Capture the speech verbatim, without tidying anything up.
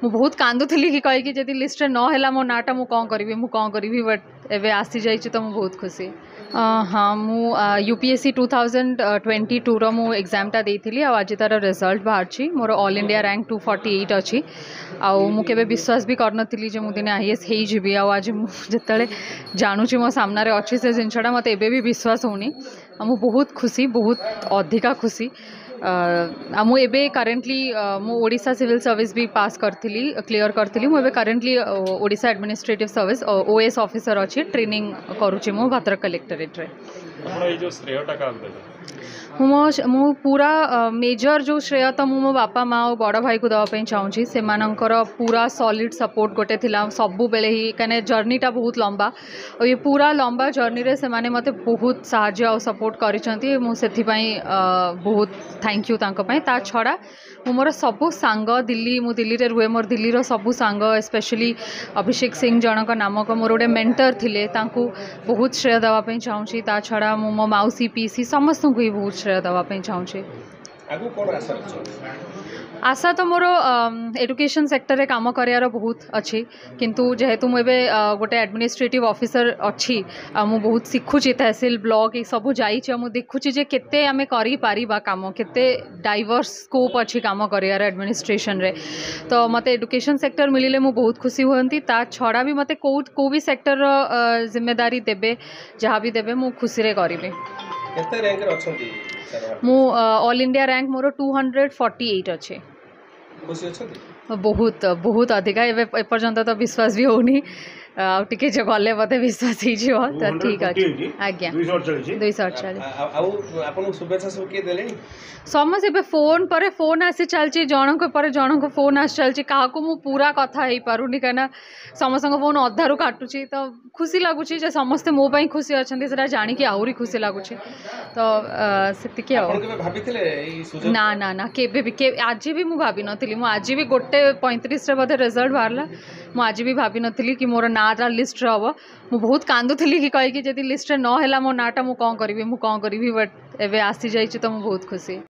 ମୁଁ ବହୁତ କାନ୍ଦୁଥିଲି କି କହିକି ଯଦି ଲିଷ୍ଟରେ ନ ହେଲା ମୋ ନାଁଟା ମୁଁ କ'ଣ କରିବି ମୁଁ କ'ଣ କରିବି ବଟ୍ ଏବେ ଆସିଯାଇଛି ତ ମୁଁ ବହୁତ ଖୁସି ହଁ ମୁଁ U P S C two thousand twenty tour ମୁଁ ଏକ୍ଜାମ୍ଟା ଦେଇଥିଲି ଆଉ ଆଜି ତା'ର ରେଜଲ୍ଟ ବାହାରିଛି ମୋର all India rank two forty eight ଅଛି ଆଉ ମୁଁ କେବେ ବିଶ୍ୱାସ ବି କରିନଥିଲି ଯେ ମୁଁ ଦିନେ I A S ହେଇଯିବି ଆଉ ଆଜି ମୁଁ ଯେତେବେଳେ ଜାଣୁଛି ମୋ ସାମ୍ନାରେ ଅଛି ସେ ଜିନିଷଟା ମୋତେ ଏବେ ବି ବିଶ୍ୱାସ ହେଉନି ଆଉ ମୁଁ ବହୁତ ଖୁସି ବହୁତ ଅଧିକା ଖୁସି ଆଉ ମୁଁ ଏବେ କରେଣ୍ଟଲି ମୁଁ ଓଡ଼ିଶା ସିଭିଲ୍ ସର୍ଭିସ୍ ବି ପାସ୍ କରିଥିଲି କ୍ଲିଅର୍ କରିଥିଲି ମୁଁ ଏବେ currently Odisha administrative service O A S officer ଅଛି ଟ୍ରେନିଂ କରୁଛି ମୁଁ ଭଦ୍ରକ କଲେକ୍ଟରେଟ୍ରେ ଆପଣ ଏଇ ଯୋଉ ଶ୍ରେୟଟା କାହାକୁ ଦେବେ ମୁଁ ମୋ ମୁଁ ପୁରା ମେଜର ଯେଉଁ ଶ୍ରେୟ ତ ମୁଁ ମୋ ବାପା ମା ଆଉ ବଡ଼ ଭାଇକୁ ଦେବା ପାଇଁ ଚାହୁଁଛି ସେମାନଙ୍କର ପୁରା ସଲିଡ଼ ସପୋର୍ଟ ଗୋଟେ ଥିଲା ସବୁବେଳେ ହିଁ କାହିଁକିନା ଜର୍ଣ୍ଣିଟା ବହୁତ ଲମ୍ବା ଆଉ ଏ ପୁରା ଲମ୍ବା ଜର୍ଣ୍ଣିରେ ସେମାନେ ମୋତେ ବହୁତ ସାହାଯ୍ୟ ଆଉ ସପୋର୍ଟ କରିଛନ୍ତି ମୁଁ ସେଥିପାଇଁ ବହୁତ thank you ତାଙ୍କ ପାଇଁ ତା ଛଡ଼ା ମୁଁ ମୋର ସବୁ ସାଙ୍ଗ ଦିଲ୍ଲୀ ମୁଁ ଦିଲ୍ଲୀରେ ରୁହେ ମୋର ଦିଲ୍ଲୀର ସବୁ ସାଙ୍ଗ ସ୍ପେଶାଲି ଅଭିଷେକ ସିଂ ଜଣଙ୍କ ନାମକ ମୋର ଗୋଟେ ମେଣ୍ଟର ଥିଲେ ତାଙ୍କୁ ବହୁତ ଶ୍ରେୟ ଦେବା ପାଇଁ ଚାହୁଁଛି ତା ଛଡ଼ା ମୁଁ ମୋ ମାଉସୀ ପିଇସି ସମସ୍ତଙ୍କୁ ହିଁ ବହୁତ ଶ୍ରେୟ ଦେବା ପାଇଁ ଚାହୁଁଛି ଆଗକୁ କ'ଣ ଆଶା ରଖିଛନ୍ତି ଆଶା ତ ମୋର ଏଡୁକେସନ୍ ସେକ୍ଟରରେ କାମ କରିବାର ବହୁତ ଅଛି କିନ୍ତୁ ଯେହେତୁ ମୁଁ ଏବେ ଗୋଟେ ଆଡ଼ମିନିଷ୍ଟ୍ରେଟିଭ୍ ଅଫିସର ଅଛି ଆଉ ମୁଁ ବହୁତ ଶିଖୁଛି ତହସିଲ ବ୍ଲକ୍ ଏସବୁ ଯାଇଛି ଆଉ ମୁଁ ଦେଖୁଛି ଯେ କେତେ ଆମେ କରିପାରିବା କାମ କେତେ ଡାଇଭର୍ସ ସ୍କୋପ୍ ଅଛି କାମ କରିବାର ଆଡ଼ମିନିଷ୍ଟ୍ରେସନରେ ତ ମୋତେ ଏଡୁକେସନ୍ ସେକ୍ଟର ମିଳିଲେ ମୁଁ ବହୁତ ଖୁସି ହୁଅନ୍ତି ତା ଛଡ଼ା ବି ମୋତେ କେଉଁ କେଉଁ ବି ସେକ୍ଟରର ଜିମ୍ମେଦାରୀ ଦେବେ ଯାହା ବି ଦେବେ ମୁଁ ଖୁସିରେ କରିବି କେତେ ର୍ୟାଙ୍କରେ ଅଛନ୍ତି ସାର୍ ମୁଁ ଅଲ୍ ଇଣ୍ଡିଆ ର୍ୟାଙ୍କ ମୋର ଟୁ ହଣ୍ଡ୍ରେଡ଼ ଫର୍ଟି ଏଇଟ୍ ଅଛି ଖୁସି ଅଛନ୍ତି ବହୁତ ବହୁତ ଅଧିକା ଏବେ ଏପର୍ଯ୍ୟନ୍ତ ତ ବିଶ୍ୱାସ ବି ହେଉନି ଆଉ ଟିକେ ଯେ ଗଲେ ବୋଧେ ବିଶ୍ୱାସ ହେଇଯିବ ତ ଠିକ୍ ଅଛି ଆଜ୍ଞା ଦୁଇଶହ ଅଡ଼ଚାଳିଶ ଦୁଇଶହ ଅଡ଼ଚାଳିଶ ଆ- ଆଉ ଆପଣଙ୍କୁ ଶୁଭେଚ୍ଛା ସବୁ କିଏ ଦେଲେଣି ସମସ୍ତେ ଏବେ ଫୋନ୍ ପରେ ଫୋନ୍ ଆସି ଚାଲିଛି ଜଣଙ୍କ ପରେ ଜଣଙ୍କ ଫୋନ୍ ଆସି ଚାଲିଛି କାହାକୁ ମୁଁ ପୁରା କଥା ହେଇପାରୁନି କାହିଁକିନା ସମସ୍ତଙ୍କ ଫୋନ୍ ଅଧାରୁ କାଟୁଛି ତ ଖୁସି ଲାଗୁଛି ଯେ ସମସ୍ତେ ମୋ ପାଇଁ ଖୁସି ଅଛନ୍ତି ସେଟା ଜାଣିକି ଆହୁରି ଖୁସି ଲାଗୁଛି ତ ଅ, ସେତିକି ଆଉ ଆପଣ କେବେ ଭାବିଥିଲେ ଏଇ ସୁଯୋଗ ନା ନା ନା କେବେ ବି କେ ଆଜି ବି ମୁଁ ଭାବିନଥିଲି ମୁଁ ଆଜି ବି ଗୋଟେ ପଇଁତିରିଶରେ ବୋଧେ ରେଜଲ୍ଟ ବାହାରିଲା ମୁଁ ଆଜି ବି ଭାବିନଥିଲି କି ମୋର ନାଁଟା ଲିଷ୍ଟରେ ହେବ ମୁଁ ବହୁତ କାନ୍ଦୁଥିଲି କି କହିକି ଯଦି ଲିଷ୍ଟରେ ନ ହେଲା ମୋ ନାଁଟା ମୁଁ କ'ଣ କରିବି ମୁଁ କ'ଣ କରିବି ବଟ୍ ଏବେ ଆସିଯାଇଛି ତ ମୁଁ ବହୁତ ଖୁସି